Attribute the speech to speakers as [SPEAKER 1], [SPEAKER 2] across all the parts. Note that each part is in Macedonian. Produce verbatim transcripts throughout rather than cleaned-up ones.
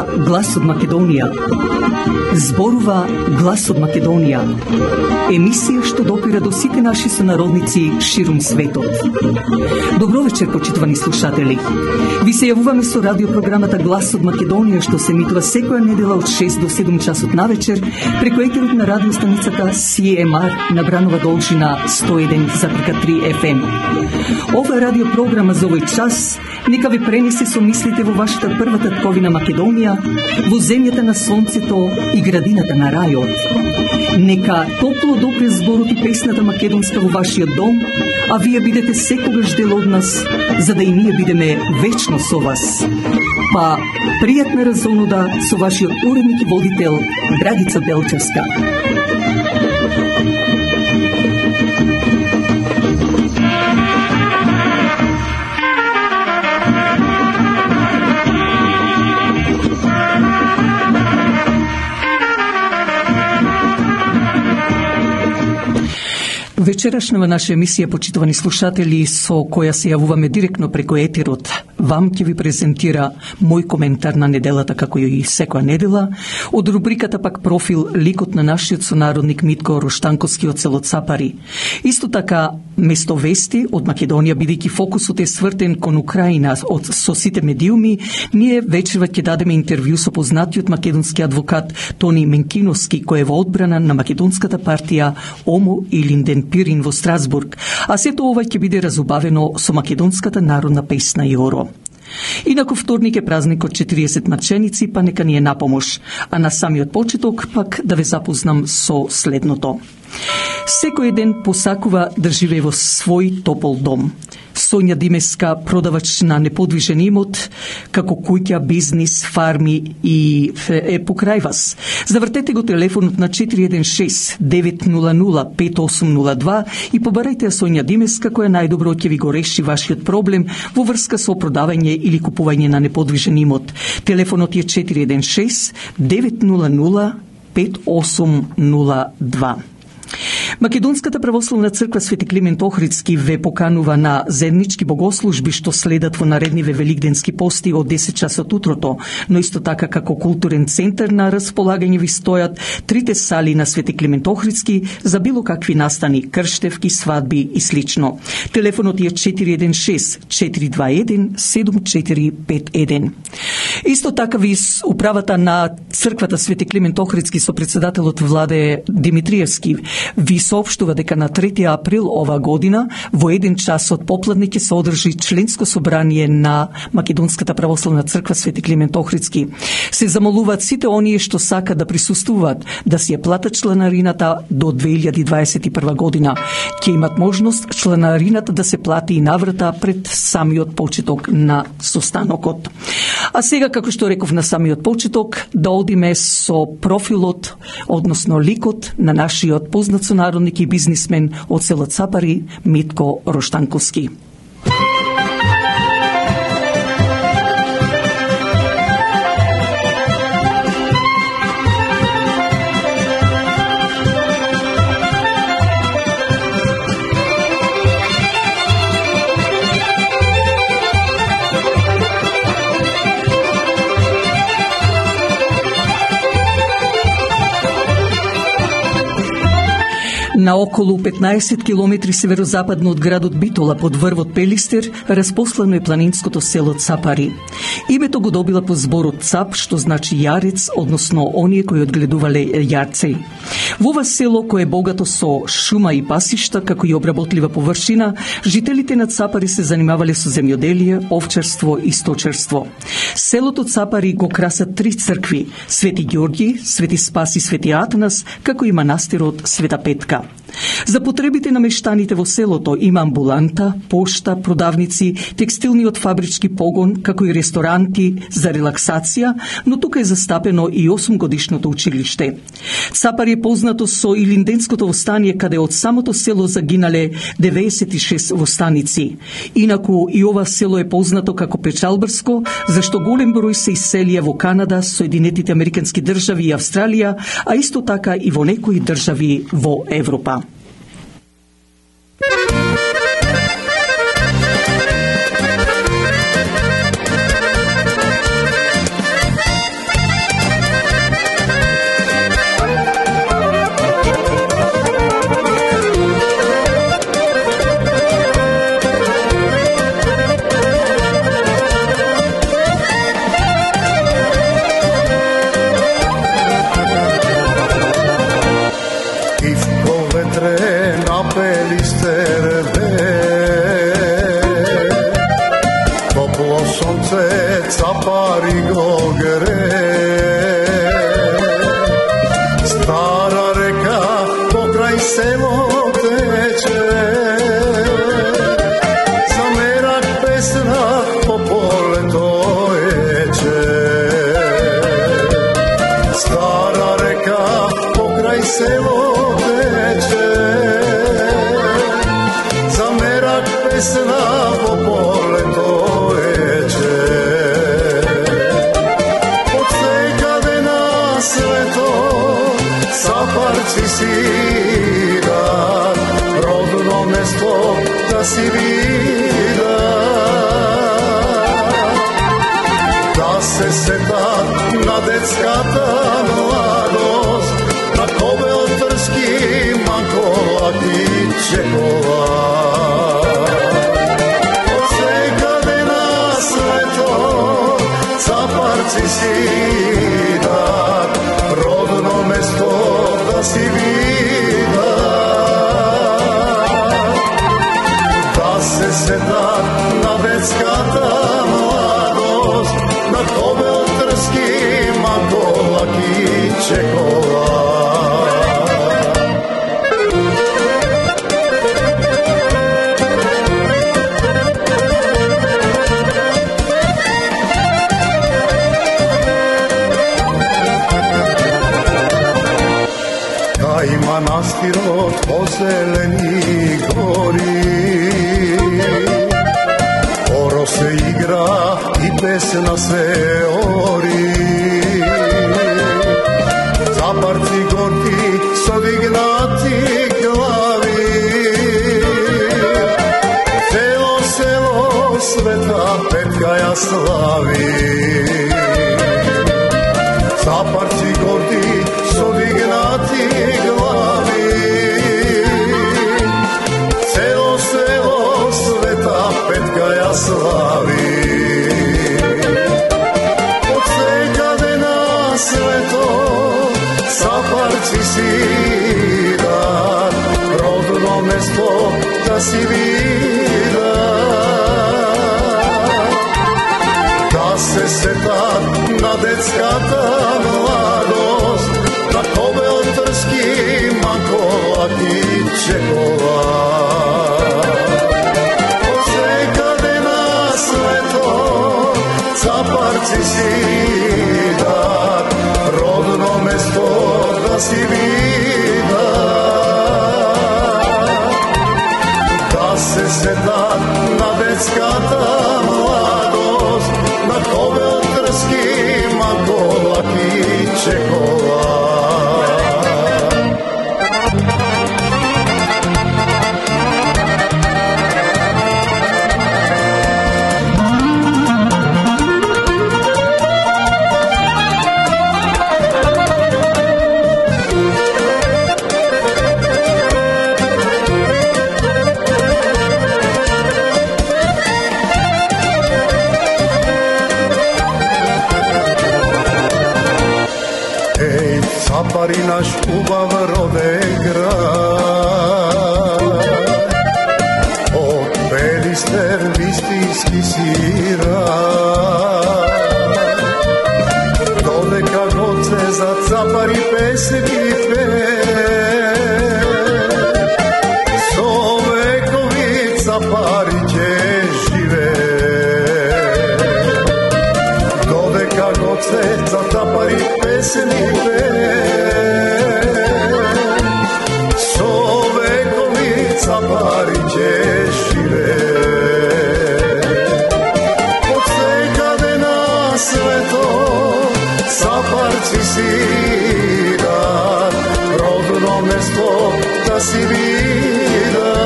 [SPEAKER 1] Зборува глас од Македонија. Зборува глас од Македонија. Емисија што допира до сите наши сонародници ширум светот. Добро вечер, почитувани слушатели. Ви се јавуваме со радиопрограмата Глас од Македонија, што се емитува секоја недела од шест до седум часот на вечер преку етерот на радиостаницата Си Ем Ар на Бранова должина сто и еден запирка три Еф Ем. Ова радиопрограма за овој час нека ви пренесе со мислите во вашата прва татковина Македонија, во земјата на сонцето и градината на рајот. Нека топло допре зборот и песната македонска во вашиот дом, а вие бидете секогаш дел од нас, за да и ние бидеме вечно со вас. Па, пријатна разонуда со вашиот уредник и водител Драгица Белчевска. Вечерашнава наша емисија, почитувани слушатели, со која се јавуваме директно преку етерот, вам ќе ви презентира мој коментар на неделата, како и секоја недела, од рубриката пак профил ликот на нашиот сонародник Митко Роштанковски од село Цапари. Исто така, место вести од Македонија, бидејќи фокусот е свртен кон Украина од со сите медиуми, ние вечерва ќе дадеме интервју со познатиот македонски адвокат Тони Менкиновски, кој е во одбрана на македонската партија Омо и Линден Пирин во Страсбург, а сето ова ќе биде разубавено со македонската народна песна Јоро. Инаку вторник е празник од четириесет маченици, па нека ни е напомош, а на самиот почеток пак да ве запознам со следното. Секој ден посакува да живее во свој топол дом. Сонја Димеска, продавач на неподвижен имот, како куќа, бизнис, фарми и е покрај вас. Завртете го телефонот на четири еден шест девет нула нула пет осум нула два и побарајте Сонја Димеска, која најдобро ќе ви го реши вашиот проблем во врска со продавање или купување на неподвижен имот. Телефонот е четири еден шест девет нула нула пет осум нула два. Македонската православна црква Свети Климент Охридски ве поканува на заеднички богослужби што следат во наредниве великденски пости од десет часот утрото, но исто така како културен центар на располагање ви стојат трите сали на Свети Климент Охридски за било какви настани, крштевки, свадби и слично. Телефонот е четири еден шест четири два еден седум четири пет еден. Исто така ви управата на црквата Свети Климент Охридски со председателот Владе Димитриевски ви соопштува дека на трети април ова година во еден час од попладне ќе се одржи членско собрание на Македонската православна црква Свети Климент Охридски. Се замолуваат сите оние што сакат да присуствуваат да си ја платат чланарината до две илјади дваесет и прва година. Ќе имат можност чланарината да се плати и наврата пред самиот почеток на состанокот. А сега, како што реков на самиот почеток, да одиме со профилот, односно ликот на нашиот познат сонародник и бизнисмен од село Цапари, Митко Роштанковски. На околу петнаесет километри северозападно од градот Битола, под врвот Пелистер, распослано е планинското село Цапари. Името го добила по зборот цап, што значи јарец, односно оние кои одгледувале јарци. Во ова село, кое е богато со шума и пасишта, како и обработлива површина, жителите на Цапари се занимавале со земјоделие, овчарство и сточарство. Селото Цапари го красат три цркви: Свети Ѓорги, Свети Спас и Свети Атанас, како и манастирот Света Петка. За потребите на мештаните во селото има амбуланта, пошта, продавници, текстилниот фабрички погон, како и ресторанти за релаксација, но тука е застапено и осумгодишното училиште. Цапари е познато со Илинденското востание, каде од самото село загинале деветдесет и шест востаници. Инаку и ова село е познато како печалбарско, зашто голем број се иселија во Канада, Соединетите Американски држави и Австралија, а исто така и во некои држави во Европа.
[SPEAKER 2] весело тече, за мерак песна во полето ече. Од секаде на свето сапарци свират, родно место да си видат, да се сетат на детската младост, на Кобел, Трски, Маколак и Чеховак. Од секаде на свето цапарци сидат, родно место да си видат, да се сетат на детската младост, на Кобел, Трски, Маколак и Чеховак. Кај манастирот позелени гори, оро се игра и песна се ори. Цапарци горди со дигнати глави, село, село, света петка ја слави. Цапарци горди со дигнати глави, село, село, света петка ја слави. Од секаде на свето сапарци сидат, родно место да си видат, да се сетат на детската младост, на Кобел, Трски, Маколак и Чеховак. Од секаде на свето цапарци сидат, родно место да си видат, да се сетат на детската младост, на Кобел, Трски, Маколак и Чеховак. Цапари наш убав роден град, од Пелистер вистински сират. Додека гоце за цапари песни пее, со векови цапари ќе живее. Додека гоце за цапари песни пее, со векови цапари ќе живее. Од секаде на свето цапарци сидат, родно место да си видат,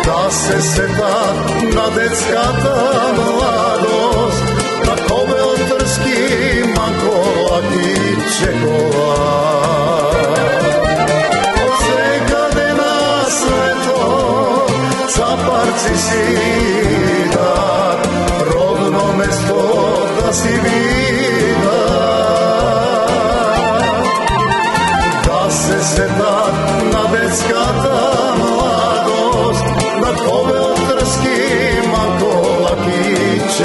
[SPEAKER 2] да се сетат на детската младост, на Кобел, Трски, Маколак и Чеховак. Од секаде на свето цапарци сидат, родно место да си видат, да се сетат на детската младост, на Кобел, Трски, Маколак и Чеховак.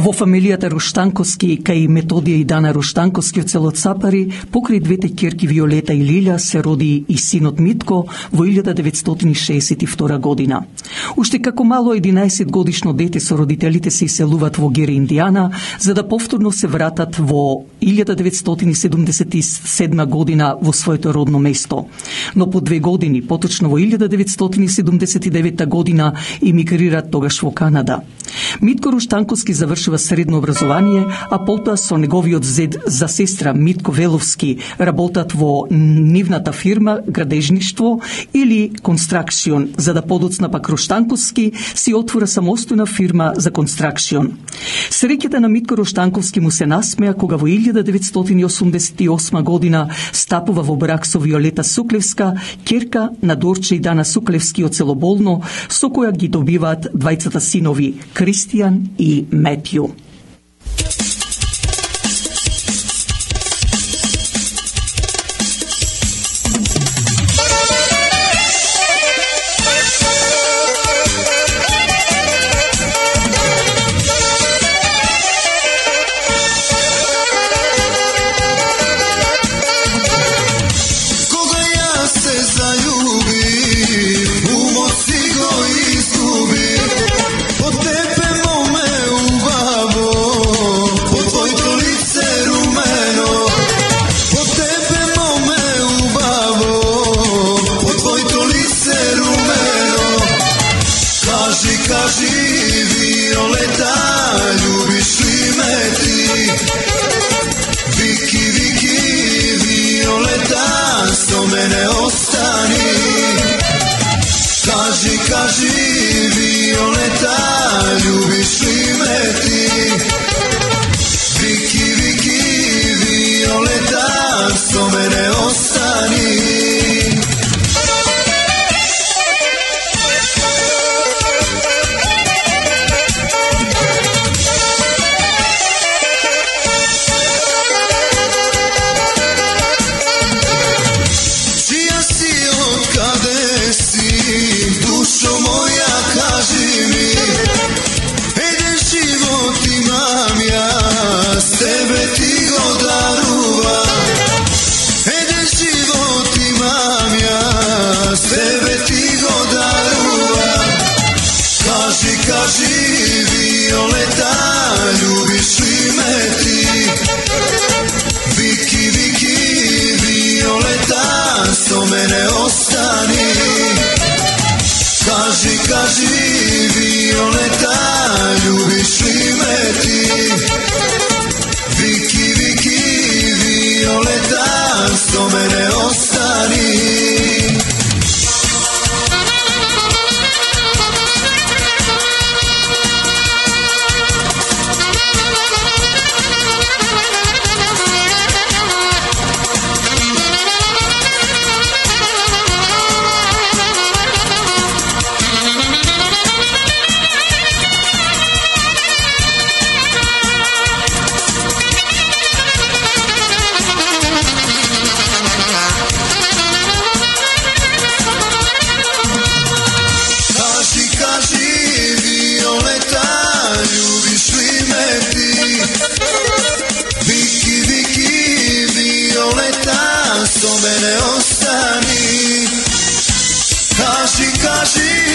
[SPEAKER 1] Во фамилијата Руштанковски, кај Методија и Дана Руштанковски од село Цапари, покрај двете ќерки Виолета и Лилја се роди и синот Митко во илјада деветстотини шеесет и втора година. Уште како мало единаесет годишно дете со родителите се иселуваат во Гери, Индијана, за да повторно се вратат во илјада деветстотини седумдесет и седма година во своето родно место. Но по две години, поточно во илјада деветстотини седумдесет и девета година, имигрираат тогаш во Канада. Митко Руштанковски завршува средно образование, а потоа со неговиот зед за сестра Митко Веловски работат во нивната фирма градежништво или констракцион, за да подоцна пак Руштанковски си отвора самостојна фирма за констракцион. Среќата на Митко Руштанковски му се насмеа кога во илјада деветстотини осумдесет и осма година стапува во брак со Виолета Суклевска, ќерка на Дорче и Дана Суклевски од село Болно, со која ги добиваат двајцата синови Кристијан и Метју.
[SPEAKER 3] Kaži, kaži